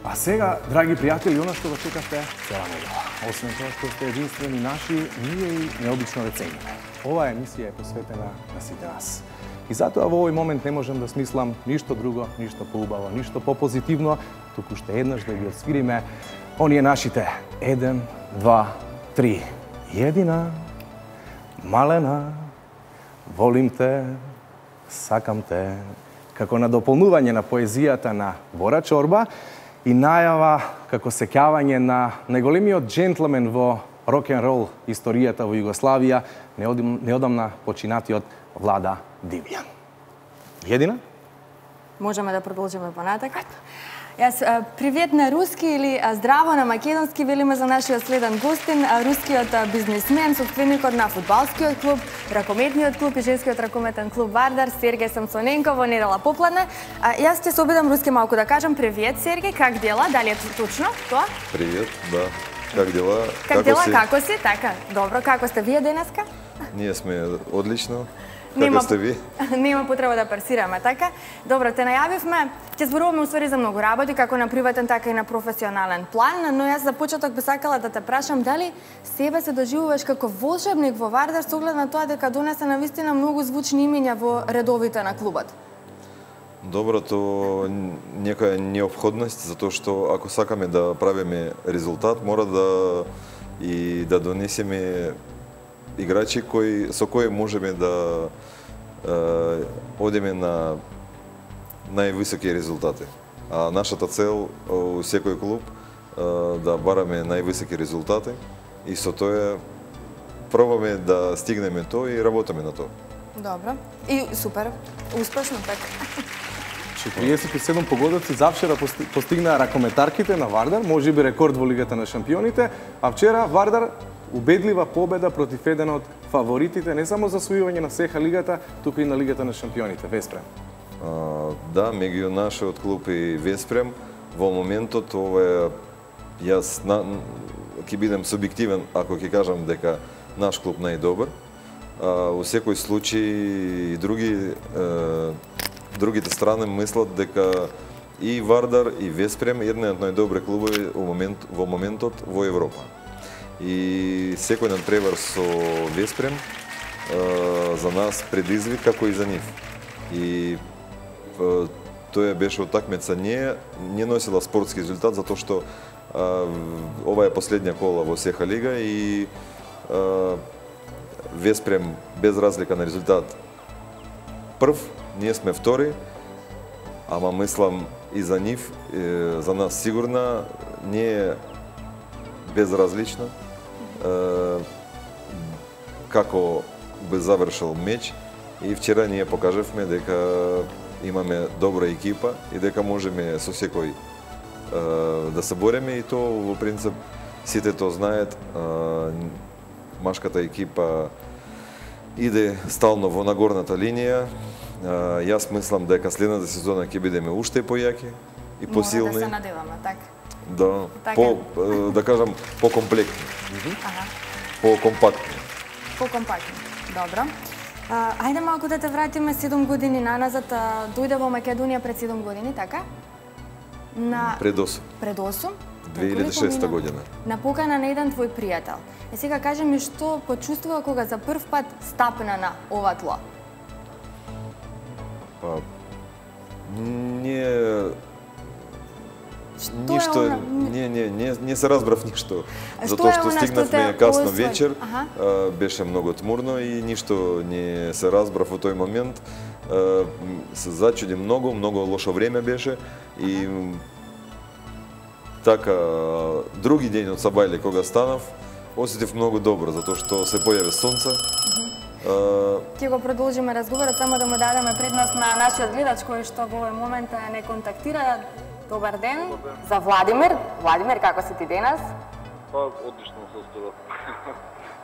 А сега, драги пријатели, она што го чекавте цела недела. Освен тоа што сте единствени наши, ние и необично ве цениме. Оваа емисија е посветена на сите нас. И затоа во овој момент не можам да смислам ништо друго, ништо поубаво, ништо попозитивно, туку што еднаш да ги отсвириме оние нашите 1, 2, 3. Едина, малена, волим те, сакам те. Како на дополнување на поезијата на Бора Чорба и најава како сеќавање на најголемиот джентлмен во рок-н-рол историјата во Југославија, неодамна починатиот Влада Димјан. Едина? Можеме да продолжиме понатака. Јас привет на руски или здраво на македонски велиме за нашиот следен гостин, рускиот бизнисмен, собственикот на фудбалскиот клуб, ракометниот клуб и женскиот ракометен клуб Вардар, Сергеј Самсоненко во недела попладне. Јас ќе се обидам руски малку да кажам. Привет, Сергеј, как дела? Дали е точно тоа? Привет, да. Как дела? Как дела, како си? Така, добро, како сте вие денеска? Ние сме одлично. Како сте ви? Нема потреба да парсираме, така? Добро, те најавивме, ќе зборуваме усвари за многу работи, како на приватен, така и на професионален план, но јас за почеток би сакала да те прашам дали себе се доживуваш како волшебник во Вардар со оглед на тоа дека донесе навистина многу звучни имиња во редовите на клубот? Добро, то некоја неопходност, затоа што ако сакаме да правиме резултат, мора да донесеме играчи со кои можеме да одиме на највисоки резултати. А нашата цел у секој клуб да бараме највисоки резултати и со тоа пробаме да стигнеме тоа и работиме на тоа. Добро. И супер. Успешно така. 47 погодоци завчера постигнаа ракометарките на Вардар, можеби рекорд во Лигата на шампионите, а вчера Вардар убедлива победа против еден од фаворитите не само за освојување на СЕХА лигата, туку и на Лигата на шампионите, Веспрем. Да, меѓу нашиот клуб и Веспрем, во моментот ова јас ќе бидам субјективен ако ќе кажам дека наш клуб најдобар. Во секој случај и другите страни мислат дека и Вардар и Веспрем еден од најдобри клубови во моментот во Европа. И секој надпревар со Веспрем за нас предизвик како и за нив. И тоа беше утакмица не носила спортски резултат затоа што ова е последња кола во СЕХА лига и Веспрем без разлика на резултат прв, ние сме втори, ама мислам и за нив, за нас сигурно не е безразлично како би завршил меч и вчера ние покажавме дека имаме добра екипа и дека можеме со секој да се бореме и тоа во принцип сите тоа знаат. Машката екипа иде стално во нагорната линија. Јас мислам дека следната сезона ќе бидеме уште појаки и посилни. Мора да се надеваме, така. Да, да кажам, по-комплектни, по-компактни. По-компактни, добро. Ајде малку да те вратиме 7 години наназад. Дојде во Македонија пред 7 години, така? Пред 8. Пред 8? 2006 година. На покана на еден твој пријател. Сега кажи ми што почувствува кога за прв пат стапна на ова тло? Не се разбрав ништо, затоа што стигнавме касно вечер, беше многу тмурно и ништо не се разбрав во тој момент. Се зачуди многу лошо време беше и така други ден од Сабајле кога станав, осетив многу добро затоа што се појави сонце. Ќе го продолжиме разговорот, само да му дадеме предност на нашиот гледач кој што во овој момент не контактира. Добар ден. За Владимир. Владимир, како си ти денес? Одлично се оставам.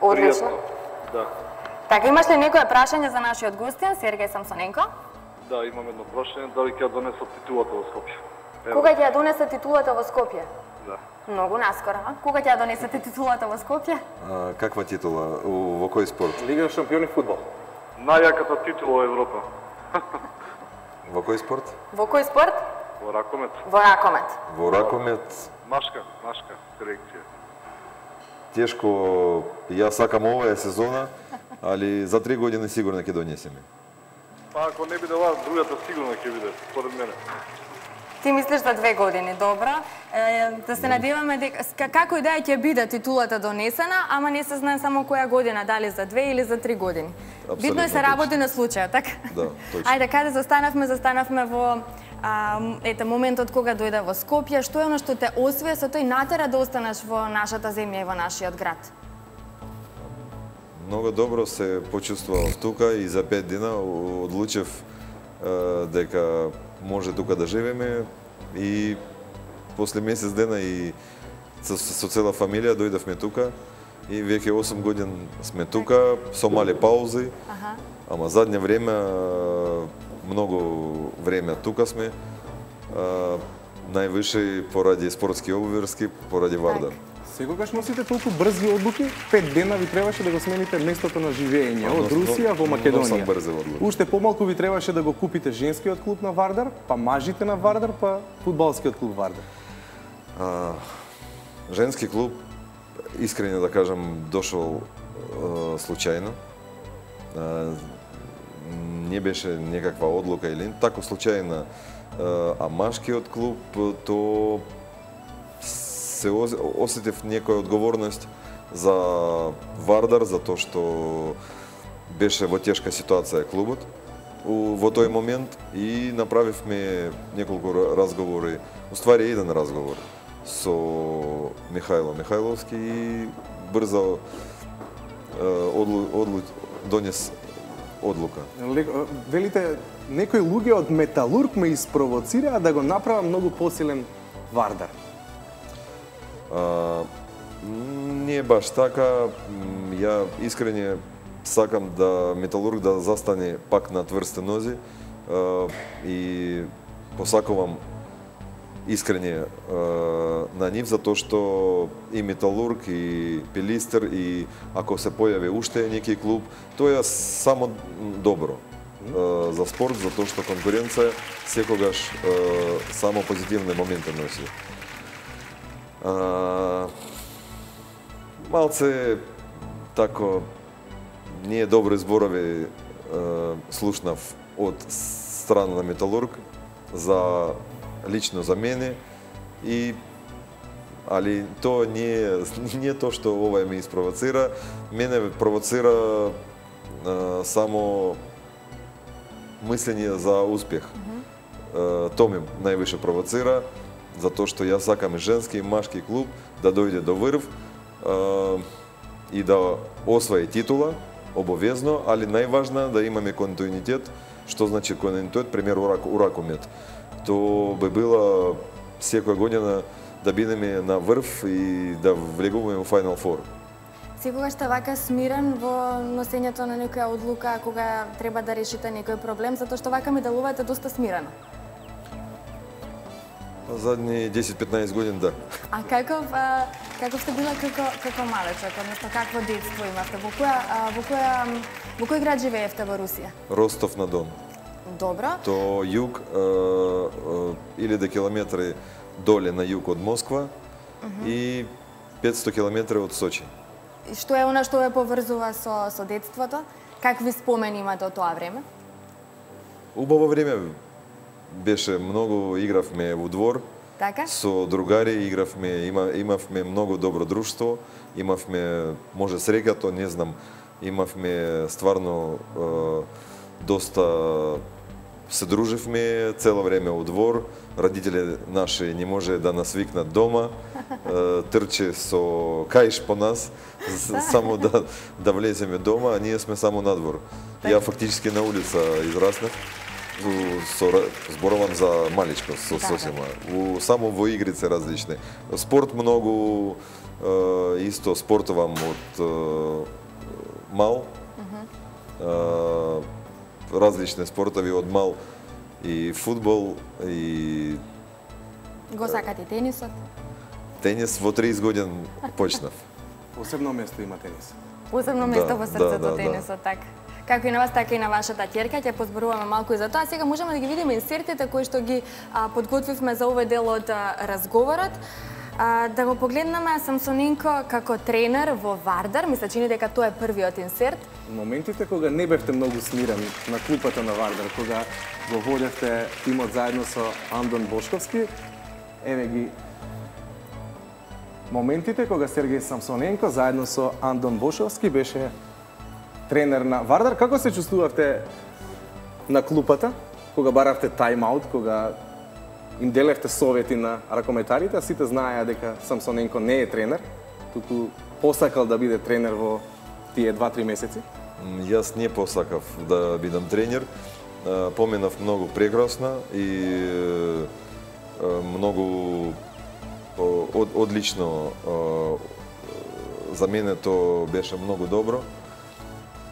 Одлично? Да. Така, имаш ли некое прашање за нашиот гостин, Сергеј Самсоненко? Да, имам едно прашање, дали ќе ја донесат титулата во Скопје? Кога ќе ја донесат титулата во Скопје? Да. Многу наскоро, а? Кога ќе ја донесете титулата во Скопје? Каква титула? Во кој спорт? Лига шампиони фудбал. Најаката титула во Европа. Во кој спорт? Во кој спорт? Во ракомет. Во ракомет. Во ракомет Машка селекција. тешко, ја сакам оваа сезона, али за 3 години сигурно ќе донесеме. Па ако не биде оваа, другата сигурно ќе биде, според мене. Ти мислиш за 2 години, добро. Да се надеваме дека како и да ќе биде титулата донесена, ама не се знае само која година, дали за 2 или за 3 години. Битно е се работи на случајот, така? Да, точно. Ајде, каде застанавме во моментот кога дојде во Скопје, што е оно што те освија со тој натера да останеш во нашата земја и во нашиот град? Многу добро се почувствував тука и за 5 дена одлучив дека може тука да живееме и после месец дена и со цела фамилија дојдовме тука и веќе 8 години сме тука со мали паузи. Ама задње време многу време тука сме. Највише поради спортски обврски, поради Вардар. Секогаш носите толку брзи одлуки, 5 дена ви требаше да го смените местото на живење од Русија во Македонија. Уште помалку ви требаше да го купите женскиот клуб на Вардар, па мажите на Вардар, па фудбалскиот клуб Вардар. Женски клуб, искрено да кажам, дошол случајно. Не беше некаква одлука или тако случајна, а машкиот клуб то се осетив некоја одговорност за Вардар, затоа што беше во тешка ситуација клубот во тој момент и направивме неколку разговори, уствари еден разговор со Михајло Михајловски и брзо донес одлука. Велите, некои луѓе од Металург ме испровоцираа да го направа многу посилен Вардар. Не баш така. Ја искрене сакам да Металург да застане пак на тврсти нози и посакувам искрене на нив, затоа што и Металург, и Пилистер, и ако се појави уште некој клуб, тоа е само добро за спорт, затоа што конкуренција секогаш само позитивни моменти носи. Малце тако не добри зборови слушнав од страна на Металург лично за мене, али тоа не е тоа што ова ме испровоцира. Мене провоцира само мислење за успех. Тоа ме највише провоцира, затоа што јас сакам и женски и машки клуб да дојде до врв и да освои титула, обовезно, али најважно да имаме континуитет. Што значи континуитет? Пример у ракомет. То би била секоја година да бидеме на врв и да влегуваме во Final Four. Секогаш сте вака смирен во носењето на некоја одлука кога треба да решите некој проблем, затоа што вака ми делувате доста смирено. Задни 10-15 години, да. А каков сте била како малечок, односно какво детство имавте? Во кој град живеевте во Русија? Ростов на Дон. Добро. То југ, 1000 километри доле на југ од Москва и 500 километри од Сочи. И што е она што ве поврзува со детството? Какви спомени имате од тоа време? Убаво време беше, многу игравме во двор. Така? Со другари игравме, имавме многу добро друштво, имавме, може среќато, не знам, имавме стварно доста се дружевме цело време во двор. Родители наши не може да нас викнат дома, трче со каиш по нас, само да влеземе дома, а ние сме само надвор. Ја фактички на улица израснав. Зборувам за маличко, сосема. Само во игрици различни. Спорт многу, исто спортувам од мал. Различни спортови од мал, и фудбал, и... Го сакате и тенисот? Тенис во 30 години почнав. Посебно место има тенис. Посебно место во срцето тенисот, така. како и на вас, така и на вашата ќерка. Ќе позборуваме малку и за тоа. Сега можеме да ги видиме инсертите кои што ги подготвивме за овој дел од разговорот. Да го погледнеме Самсоненко како тренер во Вардар. Ми се чини дека тоа е првиот инсерт. Моментите кога не бевте многу смирени на клупата на Вардар, кога го водевте тимот заедно со Андон Бошковски, еве ги моментите кога Сергеј Самсоненко заедно со Андон Бошковски беше тренер на Вардар. Како се чувствувавте на клупата, кога баравте тайм-аут, кога им делевте совети на ракометарите, а сите знаеа дека Самсоненко не е тренер, туку посакал да биде тренер во тие 2-3 месеци? Јас не посакав да бидам тренер. Поминав многу прекрасно и многу одлично. За мене тоа беше многу добро,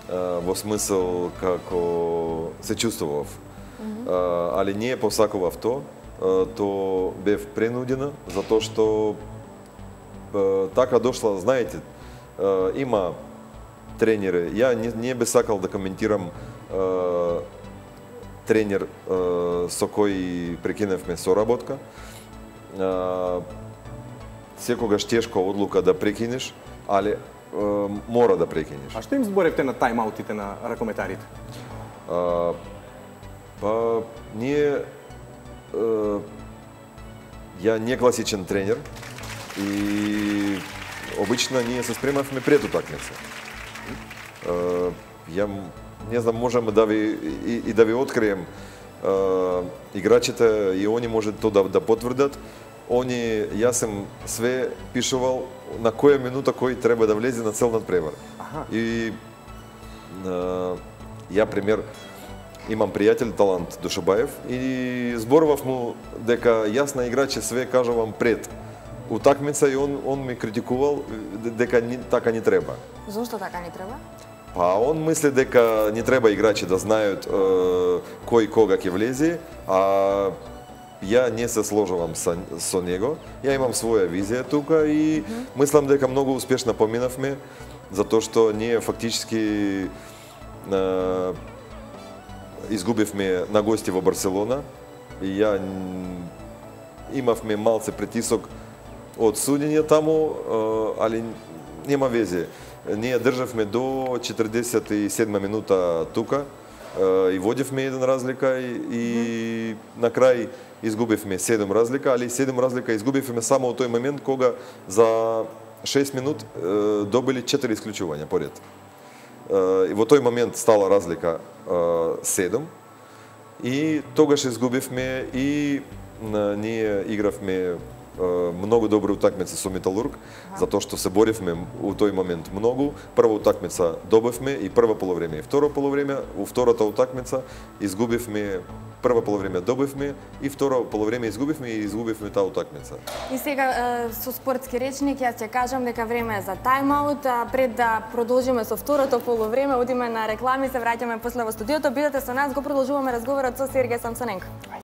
во смисол како се чувствував. Али не посакував тоа, то бев принудена, затоа што така дошла, знаете, има тренери. Ја не би сакал да коментирам тренер со кој прекиневме соработка. Секогаш тешка одлука да прекинеш, али мора да прекинеш. А што им зборевте на тайм-аутите на ракометарите? Па, ние... Ја не класичен тренер и обично ние се спремавме пред утакмица. Ја не знам, можеме да ви открием играчите и они може тоа да потврдат. Јас сум све пишувал на која минута кој треба да влезе на цел надпревар. И ја пример имам пријател Талант Душабаев и зборував му дека јас на играчи све кажувам пред утакмица и он ми критикувал дека така не треба. Зошто така не треба? Па он мисли дека не треба играчи да знаат кој кога ќе влезе, а ја не се сложувам со него. Ја имам своја визија тука и мислам дека многу успешно поминавме, затоа што ние фактички изгубивме на гости во Барселона и ја имавме малце притисок од судење таму, али нема везе. Ние државме до 47 минута тука и водевме 1 разлика и на крај изгубивме 7 разлика, али 7 разлика изгубивме само во тој момент кога за 6 минут добили 4 исклучувања поред. И во тој момент стала разлика 7 и тогаш изгубивме и ние игравме многу добри утакмици со Металург, затоа што се боривме у тој момент многу. Прва утакмица добивме и прва полувреме и второ полувреме. У втората утакмица изгубивме, прва полувреме добивме и второ полувреме изгубивме и изгубивме таа утакмица. И сега со спортски речник јас ќе кажам дека време е за тайм-аут. Пред да продолжиме со второто полувреме, одиме на реклами, се враќаме после во студиото. Бидете со нас, го продолжуваме разговорот со Сергеј Самсоненко.